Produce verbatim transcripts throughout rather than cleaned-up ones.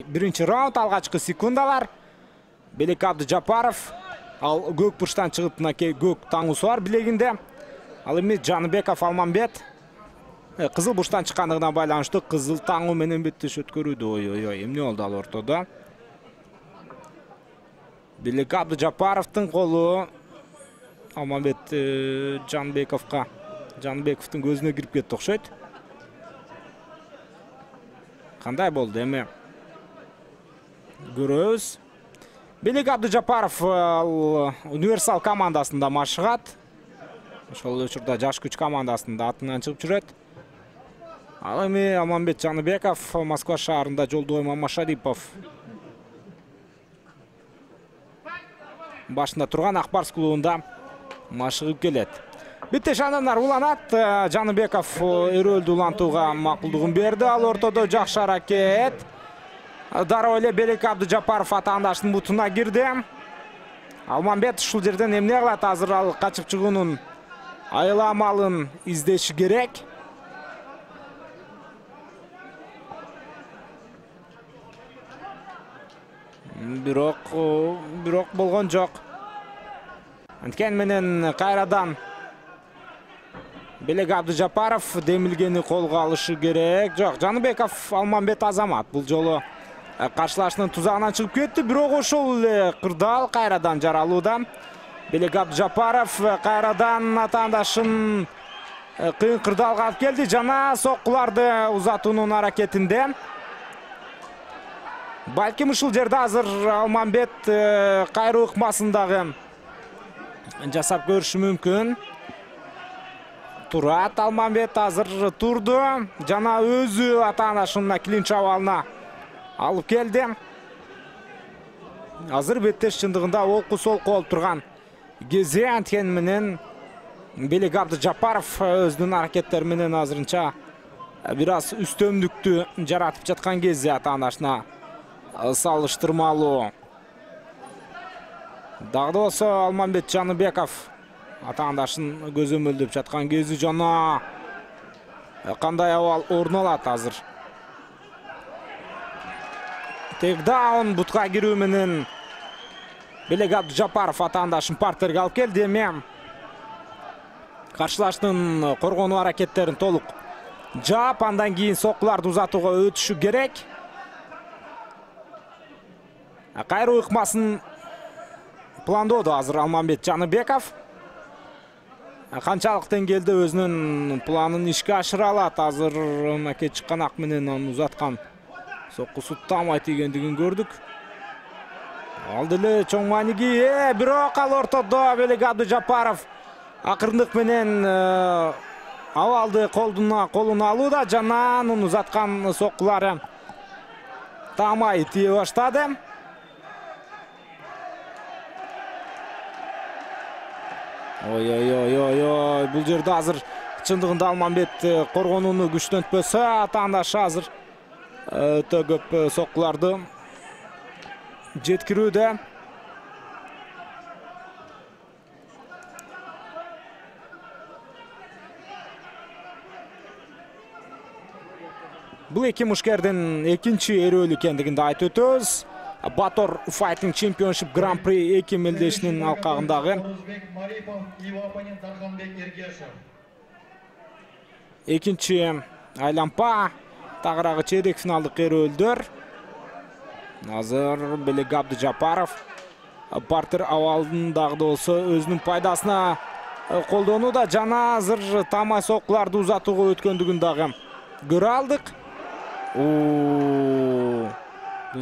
Биринчи раунд, алгачкы секундалар. Белек Абдыжапаров ал көк бурчтан чыгып, мынакей көк таңуусу бар билегинде. Ал эми Жаныбеков Алмамбет кызыл бурчтан чыккандыгына байланыштуу кызыл таңуу менен беттеш өткөрүүдө. Ой-ой-ой, эмне болду ал ортодо? Белек Абдыжапаровдун колу Алмамбет Жанбековго, Жанбековдун көзүнө кирип кетти окшойт. Кандай болду эми? Көрөбүз. Белек Абдыжапаров универсал командасында машыгат. Ошол учурда жаш күч командасында атынан чыгып жүрөт. Ал эми Алмамбет Жаныбеков Москва шаарында Жолдубай Мамашарипов башында турган Акбарс клубунда машыгып келет. Битте шананар уланат. Жаныбеков өрөөлдү улантууга макулдугун берди. Ал ортодо жакшы аракет. Дароо эле Белек Абдыжапаров атаандашынын бутуна кирди. Алмамбет ушул жерден эмне кылат? Азыр ал качып чыгуунун айла амалын издеши керек. Бирок, бирок болгон жок. Анткени менен кайрадан Белек Абдыжапаров демилгени колго алышы керек. Жок, Жаныбеков Алмамбет Азамат бул жолу каршылашынын тузагынан чыгып кетти, бирок ошол эле кырдаал кайрадан жаралууда. Белек Абдыжапаров кайрадан атаандашын кыйын кырдаалга алып келди. Жана соккуларды узатуунун аракетинде. Балким ушул жерде азыр Алмамбет кайруу ыкмасын дагы жасап көрүшү мүмкүн. Турат Алмамбет азыр турду. Жана өзү атаандашынын клинч абалына алып келди. Азыр беттеш чындыгында олку-солку болуп турган кези, анткени менен Белек Абдыжапаров өзүнүн аракеттери менен азырынча бир аз үстөмдүктү жаратып жаткан кези атаандашына салыштырмалуу. Дагы да болсо Алмамбет Жаныбеков атаандашын көзөмөлдөп жаткан кези. Жана кандай абал орун алат азыр? Тейкдаун бутка кирүү менен Белек Абдыжапаров атаандашын партерге алып келди. Эми каршылаштын коргонуу аракеттерин толук жаап, андан кийин соккуларды узатууга өтүшү керек. Кайруу ыкмасын пландоодо азыр Алмамбет Жаныбеков. Канчалык деңгээлде өзүнүн планын ишке ашыра алат? Азыр мынакей чыкканак менен аны узаткан соккусу тамай тийгендигин көрдүк. Ал деле чоң мааниги, э, бирок ал ортодо Белек Абдыжапаров акырындык менен абалды колдуна колуна алууда. Жана анын узаткан соккулары тамай тие баштады. Ой-ой-ой-ой, бул жерде азыр чындыгында Алмамбет коргонууну күчтөнтпөсө, атаандашы азыр өтө көп соккуларды жеткирүүдө. Бул эки мушкердин экинчи эрөөлү экендигин да айтып өтөбүз. Батор Fighting Championship Grand Prix эки мелдешинин алкагындагы экинчи айлампа тагыраагы чейрек финалдык эрөөлдөр. Азыр Белек Абдыжапаров партер абалын дагы да болсо өзүнүн пайдасына колдонууда. Жана азыр тамай соккуларды узатууга өткөндүгүн дагы көрө алдык. Бул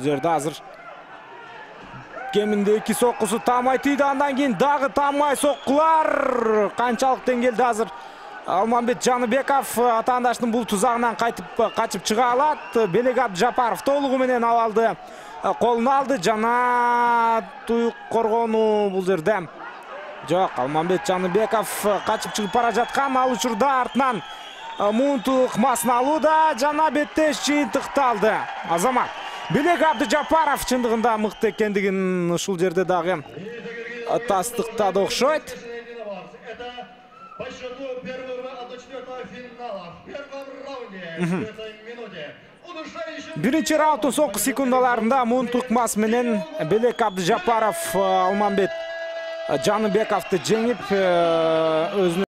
жерде азыр кеминде эки соккусу тамай тийди, андан кийин дагы тамай соккулар. Канчалык деңгээлде азыр Алмамбет Жаныбеков атаандашынын бул тузагынан кайтып качып чыга алат? Белек Абдыжапаров толугу менен абалды колуна алды. Жана туюк коргонуу бул жерде жок. Алмамбет Жаныбеков качып чыгып бара жаткан. Ал учурда артынан муунту ыкмасын алууда. Жана беттеш жыйынтыкталды. Азамат Белек Абдыжапаров чындыгында мыкты экендигин ушул жерде дагы тастыктады окшойт. По счету первого до четвертого финала в первом раунде в этой минуте Биринчи раунддун соңку секундаларында Мунтук Мас менен Белек Абдыжапаров Алмамбет Жаныбековду жеңип өзүнө